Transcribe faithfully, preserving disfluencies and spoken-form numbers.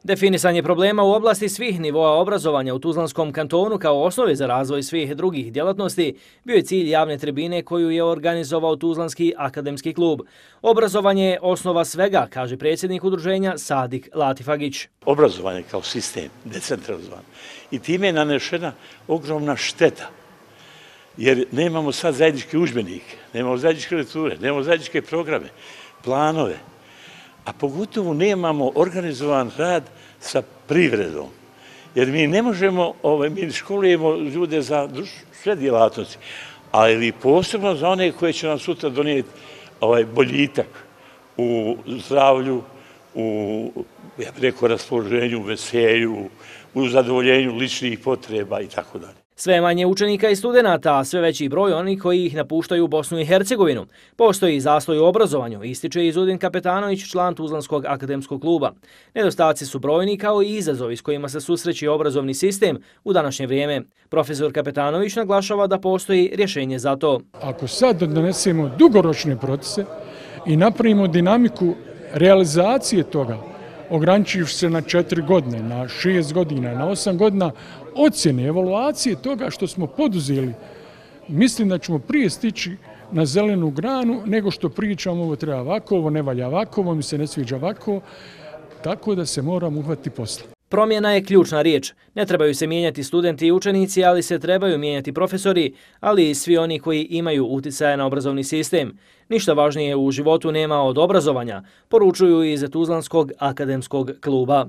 Definisanje problema u oblasti svih nivoa obrazovanja u Tuzlanskom kantonu kao osnove za razvoj svih drugih djelatnosti bio je cilj javne tribine koju je organizovao Tuzlanski akademski klub. Obrazovanje je osnova svega, kaže predsjednik udruženja Sadik Latifagić. Obrazovanje kao sistem, decentralizovan. I time je nanešena ogromna šteta. Jer nemamo sad zajednički udžbenike, nemamo zajedničke lekture, nemamo zajedničke programe, planove. A pogotovo nemamo organizovan rad sa privredom. Jer mi ne možemo, mi školujemo ljude za sve djelatnosti, ali posebno za one koje će nam sutra donijeti boljitak u zdravlju, u, ja bih rekao, raspoloženju, veselju, u zadovoljenju ličnih potreba i tako dalje. Sve manje učenika i studenata, a sve veći broj onih koji ih napuštaju Bosnu i Hercegovinu. Postoji zastoj u obrazovanju, ističe Izudin Kapetanović, član Tuzlanskog akademskog kluba. Nedostaci su brojni kao i izazovi s kojima se susreće obrazovni sistem u današnje vrijeme. Profesor Kapetanović naglašava da postoji rješenje za to. Ako sad donesemo dugoročne procese i napravimo dinamiku realizacije toga, ograničivši se na četiri godine, na šest godina, na osam godina, ocjene, evaluacije toga što smo poduzeli, mislim da ćemo prije stići na zelenu granu nego što pričamo ovo treba ovako, ovo ne valja ovako, ovo mi se ne sviđa ovako, tako da se moramo uhvatiti posla. Promjena je ključna riječ. Ne trebaju se mijenjati studenti i učenici, ali se trebaju mijenjati profesori, ali i svi oni koji imaju uticaja na obrazovni sistem. Ništa važnije u životu nema od obrazovanja, poručuju iz Tuzlanskog akademskog kluba.